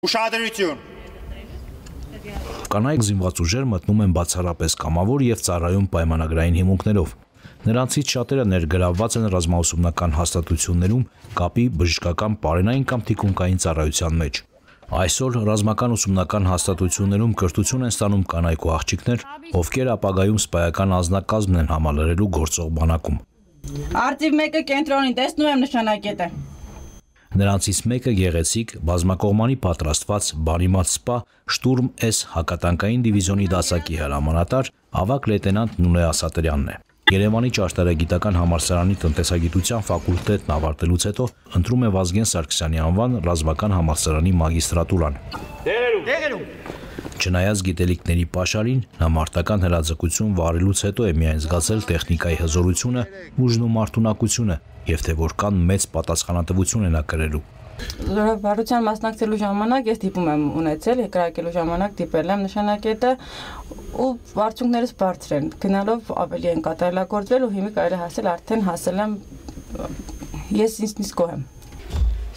Ուշադրություն։ Կանայք զինված ուժեր մտնում են բացառապես կամավոր եւ ծառայում պայմանագրային հիմունքներով։ Նրանցից շատերը ներգրավված են ռազմաուսումնական հաստատություններում կապի բժշկական, պարենային կամ թիկունքային ծառայության մեջ։ Այսօր ռազմական ուսումնական հաստատություններում կրթություն են ստանում կանայք ու աղջիկներ, ովքեր ապագայում սպայական անձնակազմն են համալրելու գործող բանակում։ Արտիվ 1-ը կենտրոնին, տեսնում եմ նշանակետը։ Նրանցից մեկը գեղեցիկ, բազմակողմանի պատրաստված բանիմաց սպա Շտուրմ S հակատանկային դիվիզիոնի դասակի հրամանատար ավագ լեյտենանտ Նունե Ասատրյանն է։ Երևանի ճարտարագիտական համալսարանի տնտեսագիտության ֆակուլտետն ավարտելուց հետո ընտրում է Վազգեն Սարգսյանի անվան ռազմական համալսարանի մագիստրատուրան։ Չնայած գիտելիքների պաշարին, նա մարտական հրաձգություն վարելուց հետո է միայն զգացել տեխնիկայի հզորությունը, ուժն ու մարտունակությունը, եւ թե որքան մեծ պատասխանատվություն է նա կրելու։ Զորավարության մասնակցելու ժամանակ ես դիպում եմ ունեցել, եկրակելու ժամանակ դիպել եմ նշանակետը ու արդյունքներս բարձր են, գնալով ավելի են կատարելագործվել ու հիմա կարելի հասել արդեն հասել եմ ես ինձնից գոհ եմ։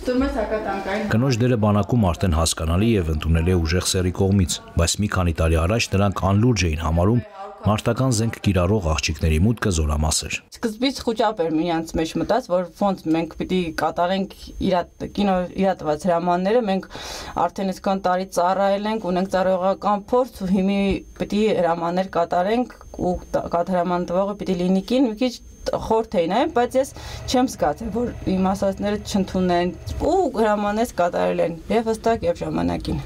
Կնոջ դերը բանակում արդեն հասկանալի եւ ընդունելի է ուժեղ սեռի կողմից, բայց մի քանի տարի առաջ նրանք անլուրջ էին համարում մարտական զենք կիրառող աղջիկների մուտքը զորամասեր։ Սկզբից խոճապ էր միմյանց մեջ մտած, որ ոնց մենք պիտի կատարենք կինո իրատված հրամանները, մենք արդեն այսքան տարի ծառայել ենք, ունենք ծառայողական փորձ ու հիմա պիտի հրամաններ կատարենք ու հրաման տվողը պիտի լինի կին, մի քիչ խորթ էին, բայց ես չեմ զգացել, որ իմ ասածները չընդունեն ու հրամաններ կատարել են եւ հստակ եւ ժամանակին։